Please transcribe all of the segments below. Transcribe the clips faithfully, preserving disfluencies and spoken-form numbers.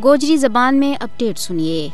گوجری زبان میں اپڈیٹ سنیے۔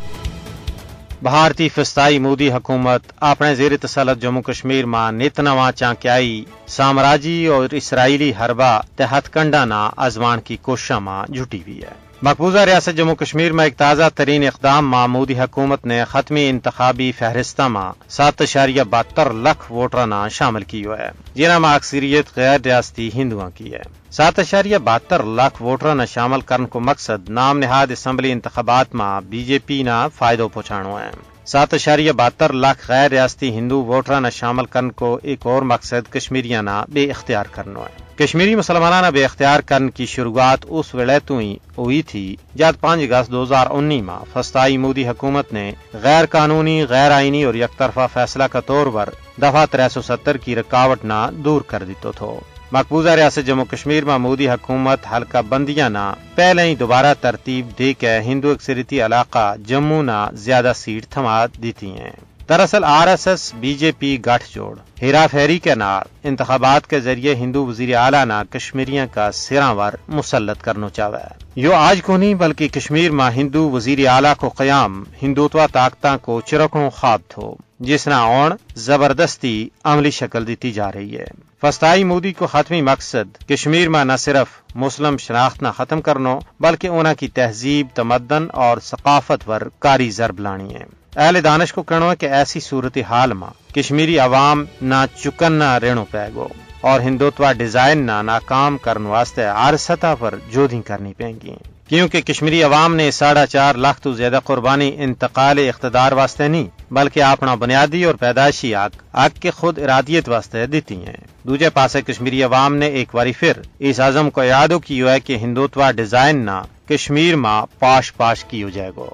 بھارتی فستائی مودی حکومت اپنے زیر تسلط جموں کشمیر ما نت نواں چانکیائی، سامراجی اور اسرائیلی حربہ تے ہتھ کنڈا نا آزمان کی کوششاں ما جھٹی ہوئی ہے۔ مقبوضہ ریاست جموں کشمیر ما ایک تازہ ترین اقدام ما مودی حکومت نے ختمی انتخابی فہرستاں ما سات اشاریہ بہتر لکھ ووٹراں نا شامل کیو ہے، جنہاں ما اکثریت غیر ریاستی ہندوؤں کی ہے۔ سات اشاریہ بہتر لکھ ووٹراں نا شامل کرن کو مقصد نام نہاد اسمبلی انتخابات ما بی جے پی نا فائدو پہنچانو ہے۔ سات اشاریہ بہتر لکھ غیر ریاستی ہندو ووٹراں نا شامل کرن کو ایک اور مقصد کشمیریاں نا بے اختیار کرنو ہے۔ کشمیری مسلماناں نا بے اختیار کرن کی شروعات اس ویلے تو ہی ہوئی تھی، جد پانچ اگست دو ہزار انی ما فستائی مودی حکومت نے غیر قانونی، غیر آئینی اور یک طرفہ فیصلہ کا طور پر دفعہ ترے سو ستر کی رکاوٹ نا دور کر دیتو تھو۔ مقبوضہ ریاست جموں کشمیر ما مودی حکومت حلقہ بندیاں نا پہلے ہی دوبارہ ترتیب دے کے ہندو اکثریتی علاقہ جموں نا زیادہ سیٹ تھما دیتی ہیں۔ دراصل آر ایس ایس بی جے پی گٹھ جوڑ ہیرا پھیری کے نال انتخابات کے ذریعے ہندو وزیر اعلیٰ نا کشمیریاں کا سراں ور مسلط کرنو چاہوے۔ یوہ آج کو نہیں بلکہ کشمیر ما ہندو وزیر اعلیٰ کو قیام ہندوتوا طاقتاں کو چرکنو خواب تھو، جس نا ہن زبردستی عملی شکل دیتی جا رہی ہے۔ فستائی مودی کو ختمی مقصد کشمیر ما نہ صرف مسلم شناخت نا ختم کرنو بلکہ انہاں کی تہذیب، تمدن اور ثقافت پر کاری ضرب لانی ہے۔ اہل دانش کو کہنو ہے کہ ایسی صورتحال ما کشمیری عوام نا چکن نا رہنو پے گو اور ہندوتوا ڈیزائن نا ناکام کرن واسطے ہر سطح پر جودھی کرنی پیں گی، کیونکہ کشمیری عوام نے ساڑھا چار لکھ تو زیادہ قربانی انتقال اقتدار واسطے نہیں بلکہ اپنا بنیادی اور پیدائشی حق حق کے خود ارادیت واسطے دیتی ہیں۔ دوجے پاسے کشمیری عوام نے ایک واری پھر اس عزم کو اعادو کیو ہے کہ ہندوتوا ڈیزائن نا کشمیر ما پاش پاش کیو جائے گو۔